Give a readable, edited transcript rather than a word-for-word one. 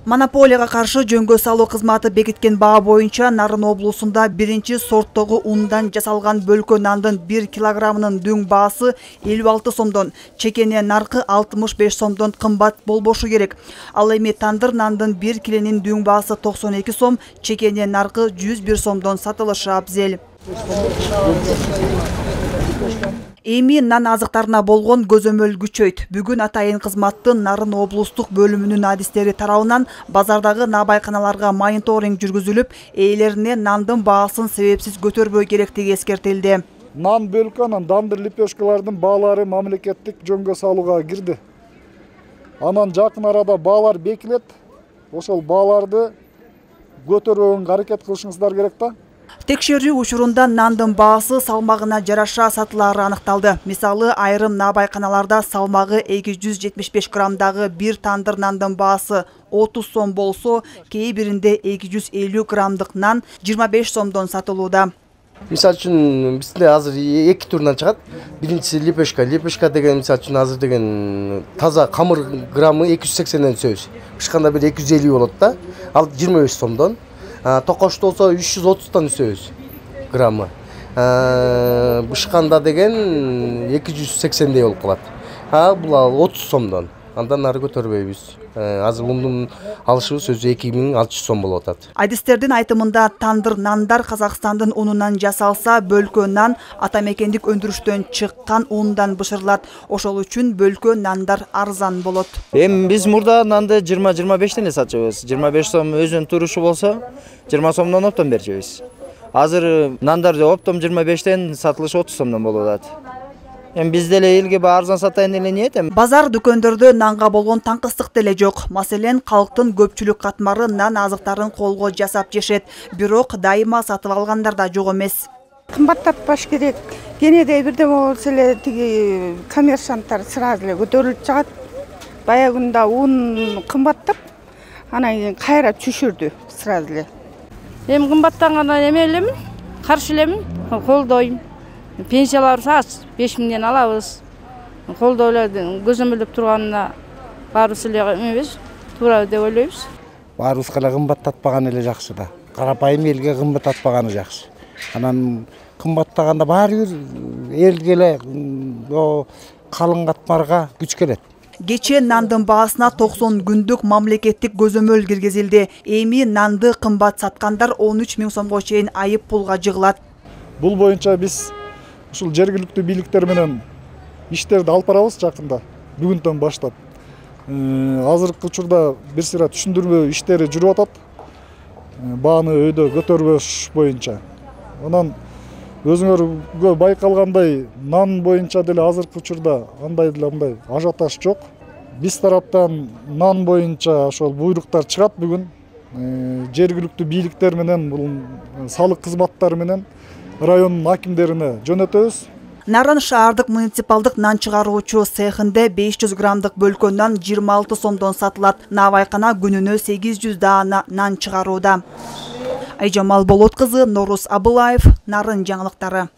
Монополияга каршы жөнгө салуу кызматы бекиткен баа боюнча Нарын облусунда биринчи сорттогу ундан жасалган бөлкө нандын 1 килограммынын дөң баасы 56 сомдон, чекене наркы 65 сомдон кымбат болбошу керек. Ал эми тандыр нандын 1 киленин дөң баасы 92 сом, чекене наркы 101 сомдон сатылышы абзел. Эми нан азыктарына болгон көзөмөл күчөйт. Бүгүн атайын кызматтын Нарын облустук бөлүмүнүн адистери тарабынан базардагы набайканаларга мониторинг жүргүзүлүп, ээлерине нандын баасын себепсиз көтөрбөй керектиги эскертилди. Нан бөлкөнүн дандыр лепешкалардын баалары мамлекеттик жөнгө салууга кирди. Анан жакын арада баалар бекилет. Ошол бааларды көтөрбөгөнгө аракет кылышыңыздар керек да. Текшерүү учурунда нандын баасы салмагына жараша сатылары аныкталды. Мисалы, айрым набайканаларда салмагы 275 граммдагы бир тандыр нандын баасы 30 сом болсо, кээ биринде 250 граммдык нан 25 сомдон сатылууда. Мисалы үчүн бизде азыр эки түрүнөн чыгат. Биринчиси лепешка. Лепешка деген мисалы үчүн азыр деген таза камыр граммы 280ден сөз. Бышканда бир 250 болот да. Ал 25 сомдон. Токошто болсо 330тан сөз граммы. Бышканда деген 280дей болуп калат. Бул 30 сомдон. Андан нары көтөрбөйбүз. Азыр ундун алышыбыз өзү 2600 сом болуп атат. Адистердин айтымында тандыр нандар Казакстандын унунан жасалса, бөлкө нан ата мекендик өндүрүштөн чыккан ундан бышырылат. Ошол үчүн бөлкө нандар арзан болот. Эми биз мурда нанды 20-25тен сатчыбыз. 25 сом өзүнүн турушу болсо, 20 сомдон оптом берчүбүз. Азыр нандар оптом 25тен сатылышы 30 сомдон болуп атат. Биз деле элге арзан сатайын эле ниет. Базар дүкөндөрдө нанга болгон таңкыстык деле жок. Маселен, калктын көпчүлүк катмары нан азыктарын колго жасап жешет, бирок дайыма сатып алгандар да жок эмес. Кымбаттатпаш керек. Кенеде бирдеме болсо эле тиги коммерсанттар сразу эле көтөрүлүп чыгат. Баягында ун кымбаттап, анан кийин кайра түшүрдү сразу эле. Эми кымбаттангандан эме элемин, каршы элемин, колдойм. Пенсияларыбыз аз, 5000ден алабыз. Колдоолордун көзөмөлдөп турганына баарыбыз эле эмебиз, туура деп ойлойбуз. Баарыбызга эле кымбаттатпаган эле жакшы да. Карапайым элге кымбаттатпаганы жакшы. Анан кымбаттаганда баары бир элге эле калың катмарга күч келет. Кече нандын баасына 90 күндүк мамлекеттик көзөмөл киргизилди. Эми нанды кымбат саткандар 13 000 сомго чейин айып пулга жыгылат. Бул боюнча биз ушул жергиликтүү бийликтер менен иштерди алып барабыз жакында, бүгүндөн баштап. Азыркы учурда бир сыйра түшүндүрмө иштери жүрүп атат. Бааны өйдө көтөрбөш боюнча. Анан өзүңөргө байкалгандай нан боюнча деле азыркы учурда андай деле мындай ажиотаж жок. Биз тараптан нан боюнча ошол буйруктар чыгат бүгүн. Жергиликтүү бийликтер менен, бул салык кызматтары менен райондун акимдерине жөнөтөбүз. Нарын шаардык муниципалдык нан чыгаруучу цехинде 500 граммдык бөлкө нан 26 сомдон сатылат. Набайкана күнүнө 800 даана нан чыгарууда. Айжамал Болот кызы, Норус Абылаев, Нарын жаңылыктары.